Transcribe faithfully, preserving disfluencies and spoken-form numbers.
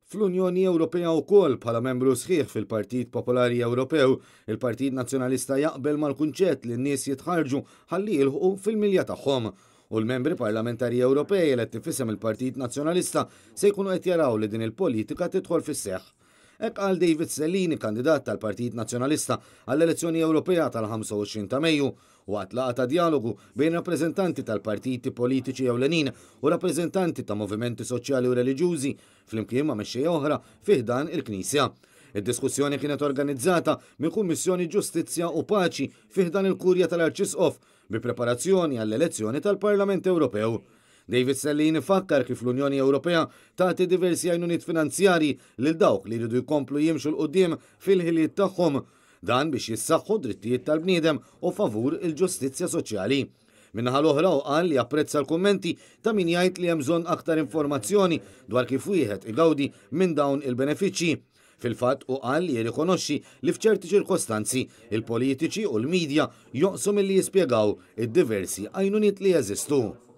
Fl-Unjoni Ewropea wkoll bħala membru sħiħ fil-Partit Popolari Ewropew, il-Partit Nazzjonalista jaqbel mal-kunċett li n-nies jitħarġu ħalli jilħqu fil-milja tagħhom. U l-membri parlamentari Ewropej eletti f'isem il-Partit Nazzjonalista se jkunu qed jaraw li din il-politika tidħol fis-seħħ. Hekk qal David Stellini, kandidat tal-Partit Nazzjonalista għall-elezzjoni Ewropea tal-ħamsa u għoxrin ta' Mejju, waqt laqgħa ta' dialogu bejn rappreżentanti tal-partiti politiċi ewlenin u rappreżentanti ta' movimenti soċjali u reliġjużi flimkien ma' mexxejja oħra fi ħdan il-Knisja. Id-diskussjoni kienet organizzata minn Kummissjoni Ġustizzja u Paċi fi ħdan il-Kurja tal-Arċisqof bi preparazzjoni għall-elezzjoni tal-Parlament Ewropew. David Stellini fakkar kif l-Unjoni Ewropea tagħti diversi għajnuniet finanzjarji lil dawk li jridu jkomplu jimxu 'l quddiem fil-ħiliet tagħhom, dan biex jissaħħu drittijiet tal-bniedem u favur il-ġustizzja soċjali. Min-naħa l-oħra hu qal li apprezza l-kummenti ta' min jgħid li hemm bżonn aktar informazzjoni dwar kif wieħed igawdi minn dawn il-benefiċċji. Fil-fatt hu qal li jirrikonoxxi li f'ċerti ċirkostanzi il-politiċi u l-medja joqsu milli jispjegaw id-diversi għajnuniet li jeżistu.